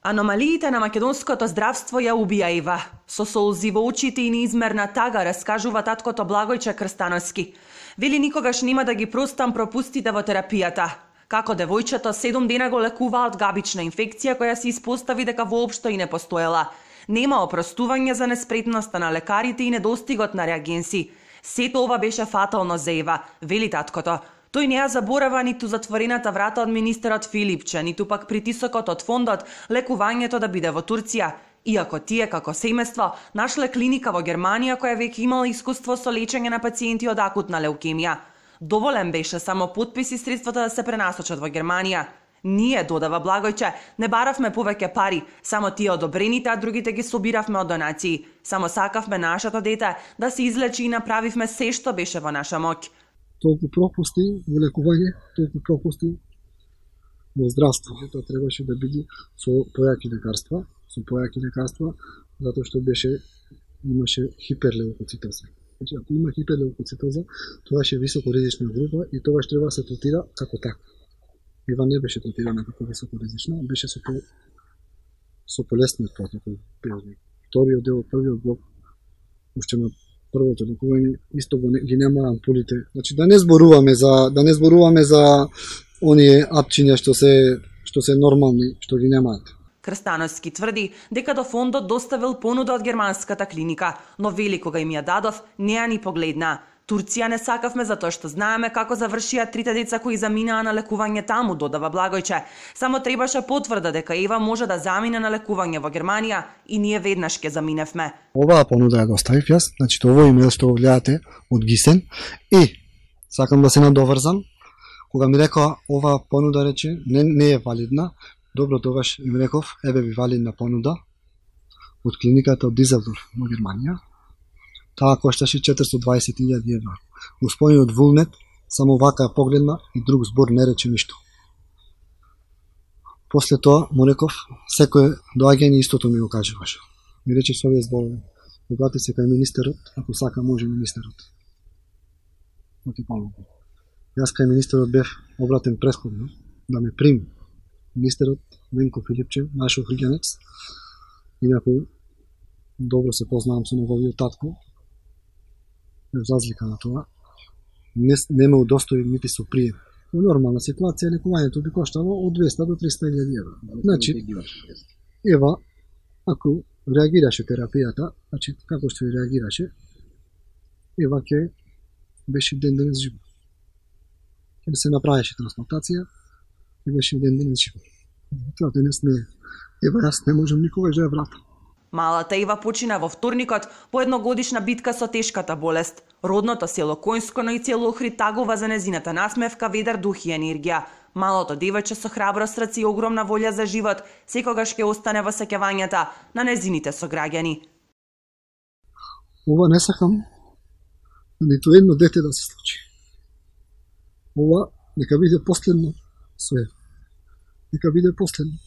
Аномалиите на македонското здравство ја убија Ева. Со солзи во очите и неизмерна тага раскажува таткото Благојче Крстановски. Вели никогаш нема да ги простам пропустите во терапијата. Како девојчето 7 дена го лекуваа од габична инфекција која се испостави дека воопшто и не постоела. Нема опростување за неспретноста на лекарите и недостигот на реагенси. Сето ова беше фатално за Ева, вели таткото. Тој не ја заборава ниту затворената врата од министерот Филипче, ниту пак притисокот од фондот лекувањето да биде во Турција. Иако тие како семејство нашле клиника во Германија која веќе имала искуство со лечење на пациенти од акутна леукемија. Доволен беше само подпис и средствата да се пренасочат во Германија. Ние, додава Благојче, не баравме повеќе пари, само тие одобрените, а другите ги собиравме од донации. Само сакавме нашето дете да се излечи и направивме се што беше во наша моќ. Толку пропусти во лекување, толку пропусти во здравство. Тоа требаше да биде со појаки лекарства, затоа што имаше хиперлеукоцитоза. Значи, ако има хиперлеукоцитоза, тоа е високо ризична група и тоа треба да се третира како така. Ева не беше третирана како високо ризична, беше со полесниот протокол. Вториот дел, првиот блок, уште на првото лекување исто ги нема ампулите. Значи да не зборуваме за оние апчиња што се нормални, што ги немаат. Крстановски тврди дека до фондот доставил понуда од германската клиника, но вели кога им ја дадов, не ја ни погледна. Турција не сакавме затоа што знаеме како завршија трите деца кои заминаа на лекување таму, додава Благојче. Само требаше потврда дека Ева може да замине на лекување во Германија и ние веднаш ќе заминевме. Оваа понуда ја доставив јас, значи овој имейл што го гледате од Гисен и сакам да се надоврзам. Кога ми рекоа оваа понуда рече не е валидна, добро тогаш им реков еве ви валидна понуда од клиниката од Дизелдорф во Германија. Таа кошташе 420.000 евра. Господинот Вулнет само вака ја погледна и друг збор не рече ништо. После тоа му реков секој доаѓање истото ми го кажуваше. Ми рече со овие зборови: обрати се кај министерот, ако сака може министерот. Јас кај министерот бев обратен претходно да ме прими. Министерот Венко Филипче, наш охриѓанец, инаку добро се познавам со неговиот татко. За разлика на тоа, не ме удостои нити со прием. Во нормална ситуација лекувањето би коштало од 200 до 300.000 евра. Значи, Ева, ако реагираше терапијата, значи како што реагираше, Ева ќе беше ден денес жива. Ќе се направеше трансплантација и беше ден денес жива. Тоа денес не е. Ева, јас не можам никогаш да ја вратам. Малата Ева почина во вторникот по едногодишна битка со тешката болест. Родното село Коњско, но и цело Охрид тагува за незината насмевка, ведар дух и енергија. Малото девојче со храброст раце и огромна волја за живот секогаш ќе остане во сеќавањата на незините сограѓани. Ова не сакам ниту едно дете да се случи. Ова нека биде последно со Ева. Нека биде последно.